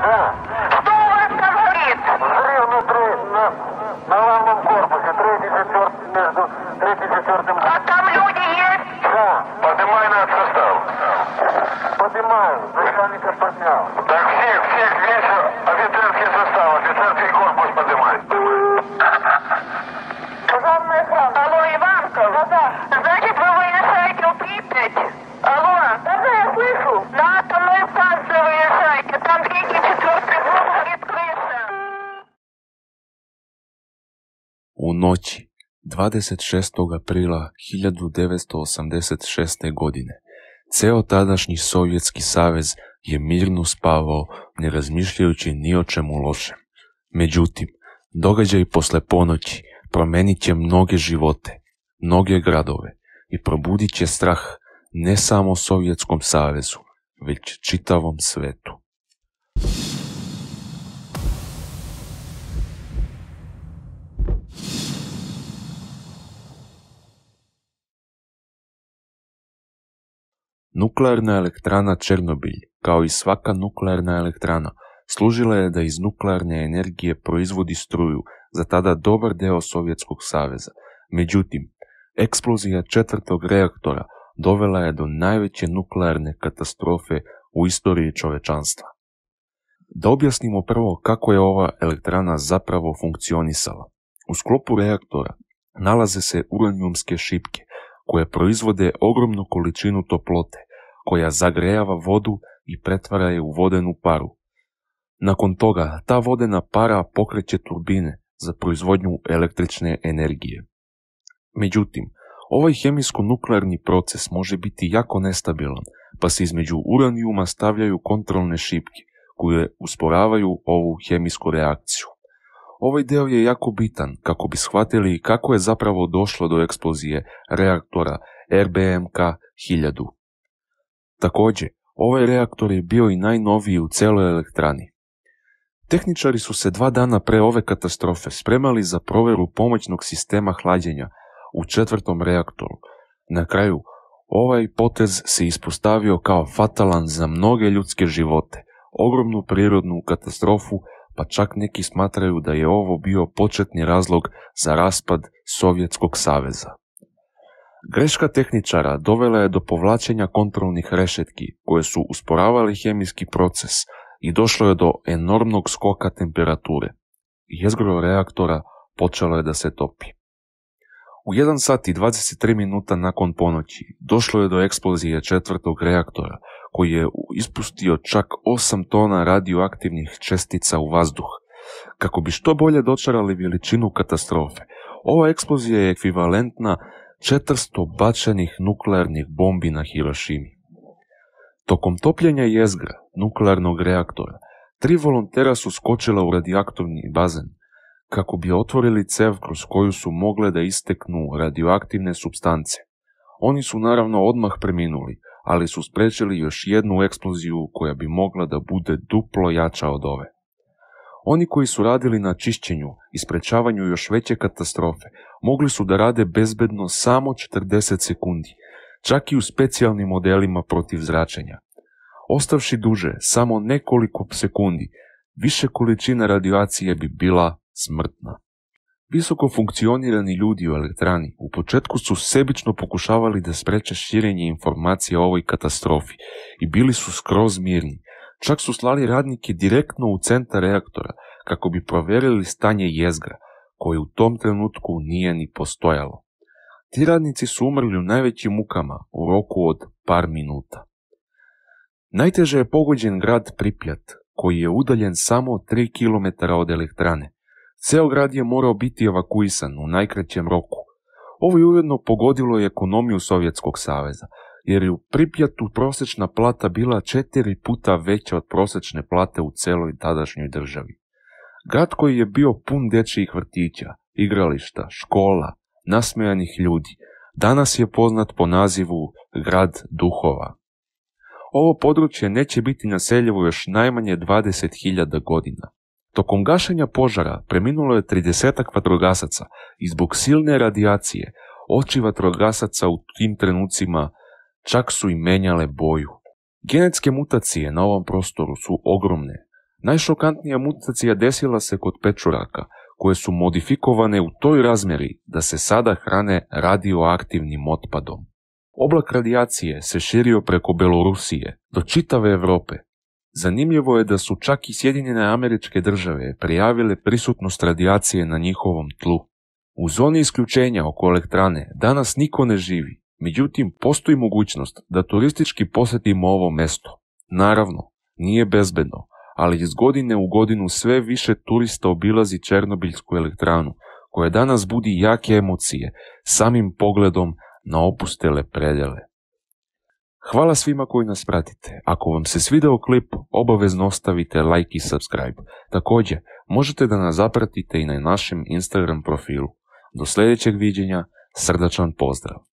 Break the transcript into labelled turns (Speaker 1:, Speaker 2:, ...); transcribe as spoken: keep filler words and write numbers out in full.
Speaker 1: Да. Что у вас там горит? Взрыв внутри, на, на главном корпусе, третий, четвертый, между третьим и четвертым. А там люди есть? Да. Поднимай над состав. Поднимаю, начальника поднял. Так всех, всех, весь офицерский состав, офицерский корпус поднимай. Главный экран. Алло, Иванков? Да, да. Значит, вы выезжаете в Припять? Алло? Да, да, я слышу. На атомную станцию выезжайте, там третий, четвертый блок горит крыша.
Speaker 2: U noći dvadeset šestog aprila hiljadu devetsto osamdeset šeste. godine ceo tadašnji Sovjetski savez je mirno spavao, ne razmišljajući ni o čemu lošem. Međutim, događaj posle ponoći promenit će mnoge živote, mnoge gradove i probudit će strah ne samo Sovjetskom savezu, već čitavom svetu. Nuklearna elektrana Černobilj, kao i svaka nuklearna elektrana, služila je da iz nuklearne energije proizvodi struju za tada dobar deo Sovjetskog saveza. Međutim, eksplozija četvrtog reaktora dovela je do najveće nuklearne katastrofe u istoriji čovečanstva. Da objasnimo prvo kako je ova elektrana zapravo funkcionisala. U sklopu reaktora nalaze se uranijumske šipke, koje proizvode ogromnu količinu toplote, koja zagrejava vodu i pretvara je u vodenu paru. Nakon toga, ta vodena para pokreće turbine za proizvodnju električne energije. Međutim, ovaj hemijsko-nuklearni proces može biti jako nestabilan, pa se između uranijuma stavljaju kontrolne šipke, koje usporavaju ovu hemijsku reakciju. Ovaj deo je jako bitan kako bi shvatili kako je zapravo došlo do eksplozije reaktora R B M K hiljadu. Također, ovaj reaktor je bio i najnoviji u celoj elektrani. Tehničari su se dva dana pre ove katastrofe spremali za proveru pomoćnog sistema hlađenja u četvrtom reaktoru. Na kraju, ovaj potez se ispostavio kao fatalan za mnoge ljudske živote, ogromnu prirodnu katastrofu, pa čak neki smatraju da je ovo bio početni razlog za raspad Sovjetskog saveza. Greška tehničara dovela je do povlačenja kontrolnih rešetki koje su usporavali hemijski proces i došlo je do enormnog skoka temperature. Jezgro reaktora počelo je da se topi. U jedan sat i dvadeset tri minuta nakon ponoći došlo je do eksplozije četvrtog reaktora, koji je ispustio čak osam tona radioaktivnih čestica u vazduh. Kako bi što bolje dočarali veličinu katastrofe, ova eksplozija je ekvivalentna četiristo bačenih nuklearnih bombi na Hirošimi. Tokom topljenja jezgra nuklearnog reaktora, tri volontera su skočila u radioaktivni bazen, kako bi otvorili cev kroz koju su mogle da isteknu radioaktivne supstance. Oni su naravno odmah preminuli, ali su sprečili još jednu eksploziju koja bi mogla da bude duplo jača od ove. Oni koji su radili na čišćenju i sprečavanju još veće katastrofe mogli su da rade bezbedno samo četrdeset sekundi, čak i u specijalnim modelima protiv zračenja. Ostavši duže samo nekoliko sekundi, više količina radioacije bi bila smrtna. Visoko funkcionirani ljudi u elektrani u početku su sebično pokušavali da spreče širenje informacija o ovoj katastrofi i bili su skroz mirni. Čak su slali radnike direktno u centar reaktora kako bi proverili stanje jezgra, koje u tom trenutku nije ni postojalo. Ti radnici su umrli u najvećim mukama u roku od par minuta. Najteže je pogođen grad Pripjat, koji je udaljen samo tri kilometra od elektrane. Ceo grad je morao biti evakuisan u najkraćem roku. Ovo je ujedno pogodilo i ekonomiju Sovjetskog saveza, jer je u Pripjatu prosečna plata bila četiri puta veća od prosečne plate u celoj tadašnjoj državi. Grad koji je bio pun dečijih vrtića, igrališta, škola, nasmejanih ljudi, danas je poznat po nazivu Grad duhova. Ovo područje neće biti naseljivo još najmanje dvadeset hiljada godina. Tokom gašenja požara preminulo je tridesetak vatrogasaca i zbog silne radijacije oči vatrogasaca u tim trenucima čak su i menjale boju. Genetske mutacije na ovom prostoru su ogromne. Najšokantnija mutacija desila se kod pečuraka, koje su modifikovane u toj razmjeri da se sada hrane radioaktivnim otpadom. Oblak radijacije se širio preko Belorusije do čitave Europe. Zanimljivo je da su čak i Sjedinjene Američke Države prijavile prisutnost radijacije na njihovom tlu. U zoni isključenja oko elektrane danas niko ne živi, međutim postoji mogućnost da turistički posjetimo ovo mesto. Naravno, nije bezbedno, ali iz godine u godinu sve više turista obilazi Černobiljsku elektranu, koja danas budi jake emocije samim pogledom na opustele predjele. Hvala svima koji nas pratite. Ako vam se svidao klip, obavezno ostavite like i subscribe. Također, možete da nas zapratite i na našem Instagram profilu. Do sljedećeg viđenja, srdačan pozdrav!